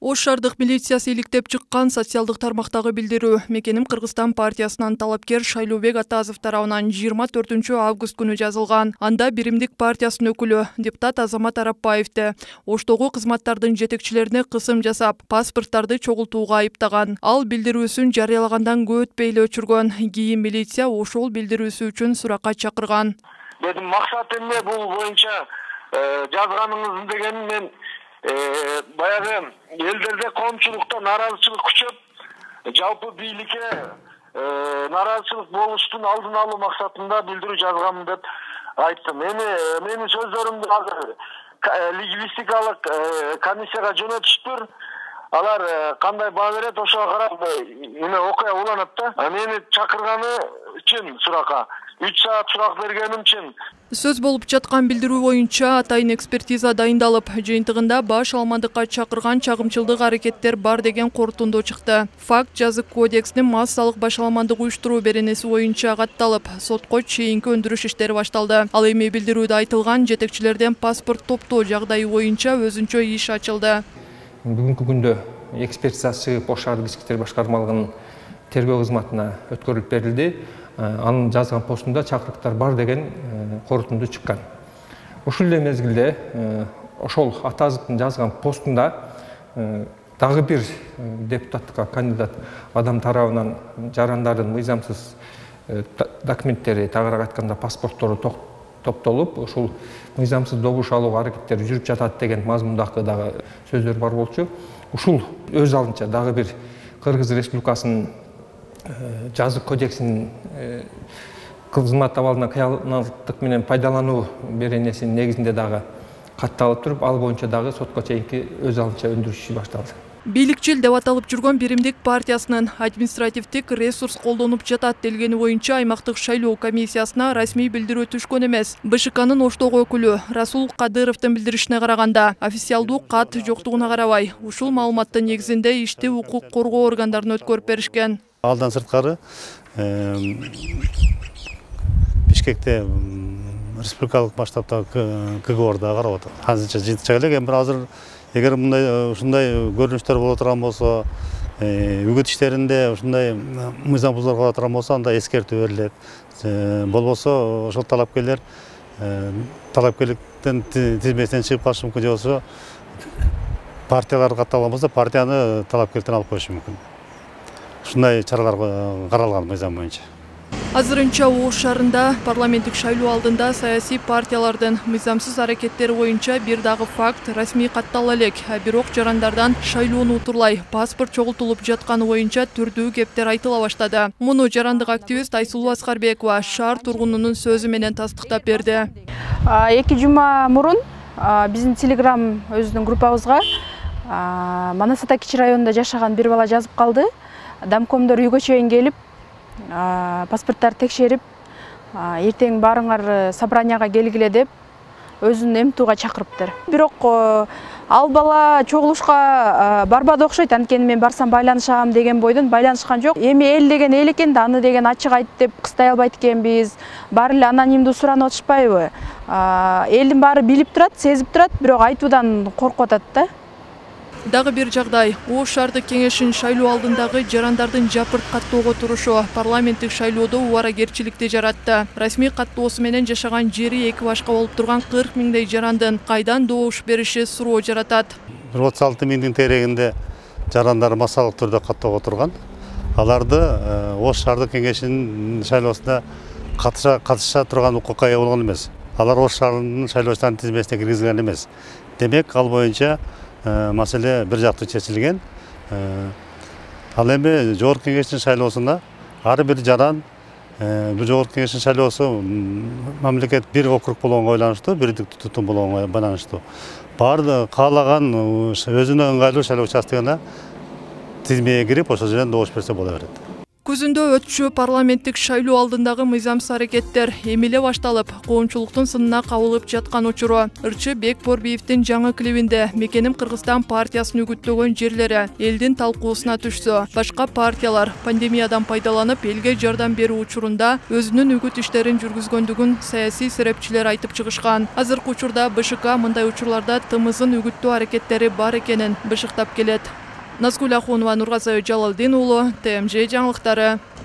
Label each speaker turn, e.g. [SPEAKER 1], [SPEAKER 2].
[SPEAKER 1] Ош шаардык милициясы иликтеп чыккан социалдык тармактагы билдирүү Мекеним Кыргызстан партиясынан талапкер Шайлообек Атазов тарабынан 24 август күнү жазылган. Анда Биримдик партиясынын өкүлү депутат Азамат Арапбаевди Оштогу кызматтардын жетекчилерине кысым жасап, паспорттарды чогултууга айыптаган. Ал билдирүүсүн жарыялагандан көп өтпөй эле өчүргөн. Кийин милиция ошол билдирүүсү үчүн суракка чакырган.
[SPEAKER 2] Дедим, максат эмне бул боюнча жазганыңыз деген мен баягы элдерде коомчулукта нааразычылык күчөп, жалпы бийликке нааразычылык болуштун алдын алуу максатында билдирүү жазганмын деп айттым. Менин сөздөрүмдү азыр лингвистикалык комиссияга жөнөтүштүр. Алар кандай баа берет, ошого карап окуя уланат да. Мени чакырганы үчүн суракка 3 саат сурак бергеним үчүн.
[SPEAKER 1] Сөз болуп жаткан билдирүү боюнча атайын экспертиза дайындалып, жыйынтыгында баш алмандыкка чакырган чагымчылдык аракеттер бар деген корутунду чыкты. Факт жазык кодекстин массалык башаламандык уюштуруу беренеси боюнча катталып, сотко чейинки өндүрүш иштери башталды. Ал эми билдирүүдө айтылган жетекчилерден паспорт топтоо жагдайы боюнча өзүнчө иш ачылды.
[SPEAKER 3] Бүгүнкү күндө экспертизасы Ош шаардык ички иштер башкармалыгынын тергөө кызматына өткөрүлүп берилди. Анын жазган постунда чакырыктар бар деген корутунду чыккан. Ушул эле мезгилде ошол Атазовдун жазган постунда дагы бир депутаттыкка кандидат адам тарабынан жарандардын мыйзамсыз документтери, тагыраак айтканда паспорттору топтолуп, ушул мыйзамсыз добуш алууга аракеттер жүрүп жатат деген мазмундагы дагы сөздөр бар болчу. Ушул өз алдынча дагы бир Кыргыз Республикасынын жазык кодексинин кызмат абалына кыялаттык менен пайдалануу беренесинин негизинде дагы катталып туруп, ал боюнча дагы сотко чейинки өз алдынча өндүрүш иши башталды.
[SPEAKER 1] Бийликчил деп аталып жүргөн Биримдик партиясынын административдик ресурс колдонуп жатат делгени боюнча аймактык шайлоо комиссиясына расмий билдирүү түшкөн эмес. БШКнын Оштогу өкүлү Расул Кадыровдун билдиришине караганда, официалдуу кат жоктугуна карабай, ушул маалыматтын негизинде ишти укук коргоо органдарына өткөрүп беришкен.
[SPEAKER 4] Алдан сырткары Бишкекте республикалык масштабтагы КГОрда карап атат. Азырча жыйынтык элек, эми азыр эгер ушундай көрүнүштөр боло турган болсо, үгүт иштеринде ушундай мыйзам бузуулар боло турган болсо, анда эскертүү берилет. Болбосо ошол талапкерликтен тизмесинен чыгып калышы мүмкүн, же болбосо партиялар катталган болсо, партияны талапкерликтен алып коюшу мүмкүн. Ушундай чаралар каралган мыйзам боюнча.
[SPEAKER 1] Азырынча Ош шаарында парламенттик шайлоо алдында саясий партиялардын мыйзамсыз аракеттери боюнча бир дагы факт расмий каттала элек, бирок жарандардан шайлоону утурлай паспорт чогултулуп жатканы боюнча түрдүү кептер айтыла баштады. Муну жарандык активист Айсулуу Аскарбекова шаар тургунунун сөзү менен тастыктап берди.
[SPEAKER 5] 2 жума мурун биздин Telegram өзүнүн группабызга Манас-Ата кичи районунда жашаган бир бала жазып калды. Дамкомдор үйгө чейин келип, паспорттарды текшерип, эртең баарыңар собранияга келгиле деп өзүн эмтууга чакырыптыр. Бирок ал бала чогулушка барбады окшойт, анткени мен барсам байланышам деген бойдон байланышкан жок. Эми эл деген эл экен да, аны деген ачык айт деп кыстай албайт экенбиз. Баары эле анонимдүү суранып атышпайбы? Элдин баары билип турат, сезип турат, бирок айтуудан коркуп атат да.
[SPEAKER 1] Дагы бир жагдай, Ош шаардык кеңешинин шайлоо алдындагы жарандардын жапырт каттоого турушу парламенттик шайлоодо убаракерчиликти жаратты. Расмий каттоосу менен жашаган жери эки башка болуп турган 40 миңдей жарандын кайдан добуш бериши суроо жаратат. 36
[SPEAKER 4] миңдин терегинде жарандар массалык түрдө каттоого турган. Аларды Ош шаардык кеңешинин шайлоосунда катыша турган укукка ээ болгон эмес. Алар Ош шаарынын шайлоочулардын тизмесине киргизилген эмес. Демек, ал боюнча маселе бир жактуу чечилген. Ал эми жогорку кеңештин шайлоосуна ар бир жаран, бул жогорку кеңештин шайлоосу мамлекет бир округ болгонго байланыштуу, бириктик тутум болгонго байланыштуу. Баары каалаган өзүнө ыңгайлуу шайлоо участогуна тизмеге кирип, ошол жерден добуш берсе боло берет.
[SPEAKER 1] Күзүндө өтчү парламенттик шайлоо алдындагы мыйзамсыз аракеттер эми эле башталып, коомчулуктун сынына кабылып жаткан учуру. Ырчы Бекборбиевдин жаңы клибинде Мекеним Кыргызстан партиясын үгүттөгөн жерлери элдин талкуусуна түшсө, башка партиялар пандемиядан пайдаланып элге жардам берүү учурунда өзүнүн үгүт иштерин жүргүзгөндүгүн саясий серепчилер айтып чыгышкан. Азыркы учурда БШК мындай учурларда тымызын үгүттөө аракеттери бар экенин бышыктап келет. Назгүл Ахунова, Нургазы Жалалдин уулу, ТМЖ жаңылыктары.